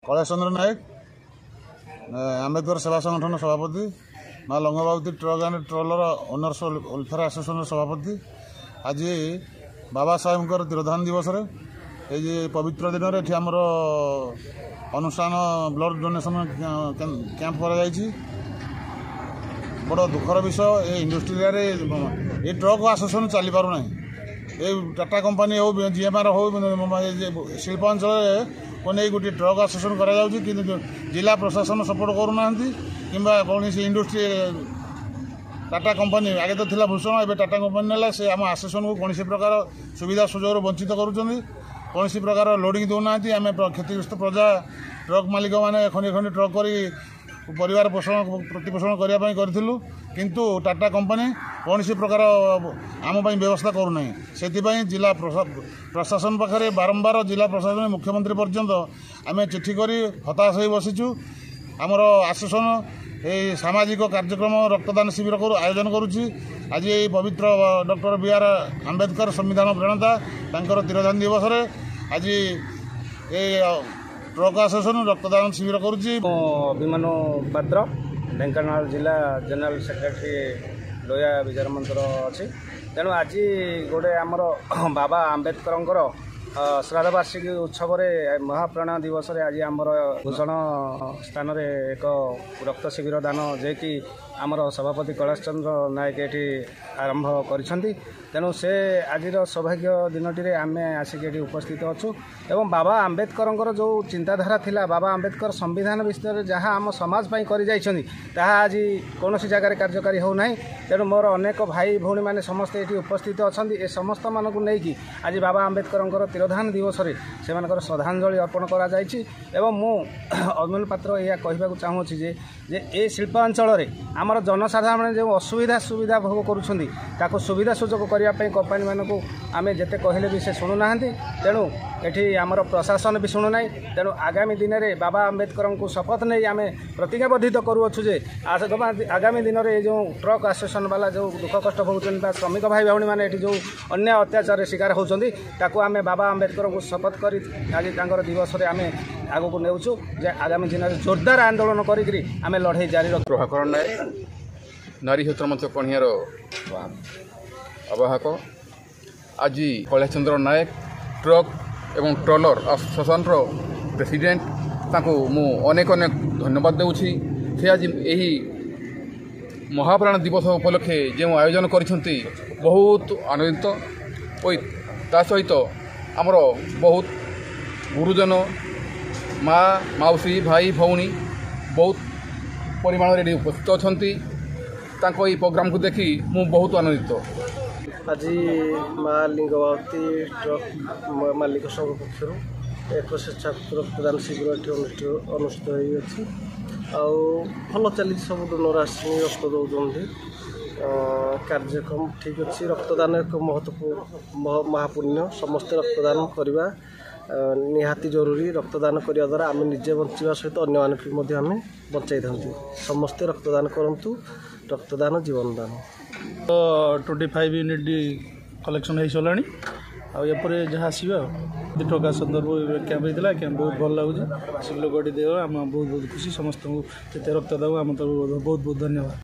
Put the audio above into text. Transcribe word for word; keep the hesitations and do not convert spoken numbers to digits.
କୈଳାସ ଚନ୍ଦ୍ର ନାୟକ ଆମ୍ବେଦକର ସେବା ସଂଗଠନ ସଭାପତି ମା Langbabati truck and trailer owners welfare ଆସୋସିଏସନର ସଭାପତି ଆଜି ବାବା ସାହେବଙ୍କର ତିରୋଧାନ ଦିବସରେ ଏଇ ଯେ ପବିତ୍ର ଦିନରେ ଏଠି ଆମର ଅନୁଷ୍ଠାନ ବ୍ଲଡ଼ ଡୋନେସନ୍ କ୍ୟାମ୍ପ କରାଯାଇଛି ବଡ଼ ଦୁଃଖର ବିଷୟ ଏ ଇଣ୍ଡଷ୍ଟ୍ରି ଏରିଆରେ ଏ ଟ୍ରକ୍ ଆସୋସିଏସନ୍ ଚାଲିପାରୁନାହିଁ ଏ ଟାଟା କମ୍ପାନୀ ହେଉ ଜିଏମ୍ଆର୍ ହେଉ ଶିଳ୍ପାଞ୍ଚଳରେ କୁ ନେଇ ଗୋଟିଏ ଟ୍ରକ୍ ଆସୋସିଏସନ୍ କରାଯାଉଛି କିନ୍ତୁ ଜିଲ୍ଲା ପ୍ରଶାସନ ସପୋର୍ଟ କରୁନାହାନ୍ତି କିମ୍ବା କୌଣସି ଇଣ୍ଡଷ୍ଟ୍ରି ଟାଟା କମ୍ପାନୀ ଆଗେ ତ ଥିଲା ଭୂଷଣ ଏବେ ଟାଟା କମ୍ପାନୀ ନେଲା ସେ ଆମ ଆସୋସିଏସନ୍କୁ କୌଣସି ପ୍ରକାର ସୁବିଧା ସୁଯୋଗରୁ ବଞ୍ଚିତ କରୁଛନ୍ତି କୌଣସି ପ୍ରକାର ଲୋଡ଼ିଂ ଦେଉନାହାନ୍ତି ଆମେ କ୍ଷତିଗ୍ରସ୍ତ ପ୍ରଜା ଟ୍ରକ୍ ମାଲିକମାନେ ଖଣ୍ଡି ଖଣ୍ଡି ଟ୍ରକ୍ କରି ପରିବାର ପୋଷଣ ପ୍ରତିପୋଷଣ କରିବା ପାଇଁ କରିଥିଲୁ କିନ୍ତୁ ଟାଟା କମ୍ପାନୀ କୌଣସି ପ୍ରକାର ଆମ ପାଇଁ ବ୍ୟବସ୍ଥା କରୁନାହିଁ ସେଥିପାଇଁ ଜିଲ୍ଲା ପ୍ରଶାସନ ପାଖରେ ବାରମ୍ବାର ଜିଲ୍ଲା ପ୍ରଶାସନ ମୁଖ୍ୟମନ୍ତ୍ରୀ ପର୍ଯ୍ୟନ୍ତ ଆମେ ଚିଠି କରି ହତାଶ ହୋଇ ବସିଛୁ ଆମର ଆସୋସିଏସନ୍ ଏହି ସାମାଜିକ କାର୍ଯ୍ୟକ୍ରମ ରକ୍ତଦାନ ଶିବିର କରୁ ଆୟୋଜନ କରୁଛି ଆଜି ଏହି ପବିତ୍ର ଡକ୍ଟର ବି ଆର୍ ଆମ୍ବେଦକର ସମ୍ବିଧାନ ପ୍ରଣେତା ତାଙ୍କର ତିରୋଧାନ ଦିବସରେ ଆଜି ଏଇ ଟ୍ରକ୍ ଆସୋସିଏସନ୍ ରକ୍ତଦାନ ଶିବିର କରୁଛି ମୁଁ ଅଭିମନ୍ୟୁ ପାତ୍ର ଢେଙ୍କାନାଳ ଜିଲ୍ଲା ଜେନେରାଲ ସେକ୍ରେଟାରୀ ଲୋୟା ବିଚାର ମଞ୍ଚର ଅଛି ତେଣୁ ଆଜି ଗୋଟେ ଆମର ବାବା ଆମ୍ବେଦକରଙ୍କର ଶ୍ରାଦ୍ଧବାର୍ଷିକୀ ଉତ୍ସବରେ ମହାପ୍ରୟାଣ ଦିବସରେ ଆଜି ଆମର ଭୂଷଣ ସ୍ଥାନରେ ଏକ ରକ୍ତ ଶିବିର ଦାନ ଯିଏକି ଆମର ସଭାପତି କୈଳାସ ଚନ୍ଦ୍ର ନାୟକ ଏଠି ଆରମ୍ଭ କରିଛନ୍ତି ତେଣୁ ସେ ଆଜିର ସୌଭାଗ୍ୟ ଦିନଟିରେ ଆମେ ଆସିକି ଏଠି ଉପସ୍ଥିତ ଅଛୁ ଏବଂ ବାବା ଆମ୍ବେଦକରଙ୍କର ଯେଉଁ ଚିନ୍ତାଧାରା ଥିଲା ବାବା ଆମ୍ବେଦକର ସମ୍ବିଧାନ ବିଷୟରେ ଯାହା ଆମ ସମାଜ ପାଇଁ କରିଯାଇଛନ୍ତି ତାହା ଆଜି କୌଣସି ଜାଗାରେ କାର୍ଯ୍ୟକାରୀ ହେଉନାହିଁ ତେଣୁ ମୋର ଅନେକ ଭାଇ ଭଉଣୀମାନେ ସମସ୍ତେ ଏଠି ଉପସ୍ଥିତ ଅଛନ୍ତି ଏ ସମସ୍ତମାନଙ୍କୁ ନେଇକି ଆଜି ବାବା ଆମ୍ବେଦକରଙ୍କର ତିରୋଧାନ ଦିବସରେ ସେମାନଙ୍କର ଶ୍ରଦ୍ଧାଞ୍ଜଳି ଅର୍ପଣ କରାଯାଇଛି ଏବଂ ମୁଁ ଅଭିମନ୍ୟୁ ପାତ୍ର ଏହା କହିବାକୁ ଚାହୁଁଅଛି ଯେ ଯେ ଏ ଶିଳ୍ପାଞ୍ଚଳରେ ଆମର ଜନସାଧାରଣ ଯେଉଁ ଅସୁବିଧା ସୁବିଧା ଭୋଗ କରୁଛନ୍ତି ତାକୁ ସୁବିଧା ସୁଯୋଗ କରିବା ପାଇଁ କମ୍ପାନୀମାନଙ୍କୁ ଆମେ ଯେତେ କହିଲେ ବି ସେ ଶୁଣୁନାହାନ୍ତି ତେଣୁ ଏଠି ଆମର ପ୍ରଶାସନ ବି ଶୁଣୁନାହିଁ ତେଣୁ ଆଗାମୀ ଦିନରେ ବାବା ଆମ୍ବେଦକରଙ୍କୁ ଶପଥ ନେଇ ଆମେ ପ୍ରତିଜ୍ଞାବଦ୍ଧିତ କରୁଅଛୁ ଯେ ଆଗାମୀ ଦିନରେ ଏ ଯେଉଁ ଟ୍ରକ୍ ଆସୋସିଏସନ୍ ବାଲା ଯେଉଁ ଦୁଃଖ କଷ୍ଟ ଭୋଗୁଛନ୍ତି ବା ଶ୍ରମିକ ଭାଇ ଭଉଣୀମାନେ ଏଠି ଯେଉଁ ଅନ୍ୟାୟ ଅତ୍ୟାଚାରରେ ଶିକାର ହେଉଛନ୍ତି ତାକୁ ଆମେ ବାବା ଆମ୍ବେଦକରଙ୍କୁ ଶପଥ କରି ଆଜି ତାଙ୍କର ଦିବସରେ ଆମେ ଆଗକୁ ନେଉଛୁ ଯେ ଆଗାମୀ ଦିନରେ ଜୋରଦାର ଆନ୍ଦୋଳନ କରିକିରି ଆମେ ଲଢ଼େଇ ଜାରି ରଖୁ ପ୍ରଭାକର ନାୟକ ନାରୀ କ୍ଷେତ୍ର ମଞ୍ଚ କଣିହାର ଆବାହକ ଆଜି କୈଳାସ ଚନ୍ଦ୍ର ନାୟକ ଟ୍ରକ୍ ଏବଂ ଟ୍ରଲର ଆସୋସିଏସନ୍ର ପ୍ରେସିଡେଣ୍ଟ ତାଙ୍କୁ ମୁଁ ଅନେକ ଅନେକ ଧନ୍ୟବାଦ ଦେଉଛି ସେ ଆଜି ଏହି ମହାପ୍ରାଣ ଦିବସ ଉପଲକ୍ଷେ ଯେଉଁ ଆୟୋଜନ କରିଛନ୍ତି ବହୁତ ଆନନ୍ଦିତ ଓ ତା ସହିତ ଆମର ବହୁତ ଗୁରୁଜନ ମା ମାଉସୀ ଭାଇ ଭଉଣୀ ବହୁତ ପରିମାଣରେ ଏଠି ଉପସ୍ଥିତ ଅଛନ୍ତି ତାଙ୍କ ଏହି ପ୍ରୋଗ୍ରାମକୁ ଦେଖି ମୁଁ ବହୁତ ଆନନ୍ଦିତ ଆଜି ମା ଲିଙ୍ଗବାବତୀ ଟ୍ରକ୍ ମାଲିକ ସଂଘ ପକ୍ଷରୁ ଏକ ସ୍ୱେଚ୍ଛାକୃତ ରକ୍ତଦାନ ଶିବିର ଏଠି ଅନୁଷ୍ଠିତ ଅନୁଷ୍ଠିତ ହୋଇଅଛି ଆଉ ଭଲ ଚାଲିଛି ସବୁ ଡୋନର ଆସିକି ରକ୍ତ ଦେଉଛନ୍ତି କାର୍ଯ୍ୟକ୍ରମ ଠିକ୍ ଅଛି ରକ୍ତଦାନ ଏକ ମହତ୍ୱ ମହାପୁଣ୍ୟ ସମସ୍ତେ ରକ୍ତଦାନ କରିବା ନିହାତି ଜରୁରୀ ରକ୍ତଦାନ କରିବା ଦ୍ୱାରା ଆମେ ନିଜେ ବଞ୍ଚିବା ସହିତ ଅନ୍ୟମାନଙ୍କୁ ମଧ୍ୟ ଆମେ ବଞ୍ଚାଇଥାନ୍ତି ସମସ୍ତେ ରକ୍ତଦାନ କରନ୍ତୁ ରକ୍ତଦାନ ଜୀବନଦାନ ଟ୍ୱେଣ୍ଟି ଫାଇଭ୍ ୟୁନିଟ୍ କଲେକ୍ସନ୍ ହେଇସାରିଲାଣି ଆଉ ଏପରେ ଯାହା ଆସିବ ଆଉ ଟଙ୍କା ସନ୍ଦର୍ଭ କ୍ୟାମ୍ପ ହେଇଥିଲା କ୍ୟାମ୍ପ ବହୁତ ଭଲ ଲାଗୁଛି ସେ ଲୋକଟି ଦେବ ଆମେ ବହୁତ ବହୁତ ଖୁସି ସମସ୍ତଙ୍କୁ ଯେତେ ରକ୍ତ ଦେବୁ ଆମ ତରଫରୁ ବହୁତ ବହୁତ ଧନ୍ୟବାଦ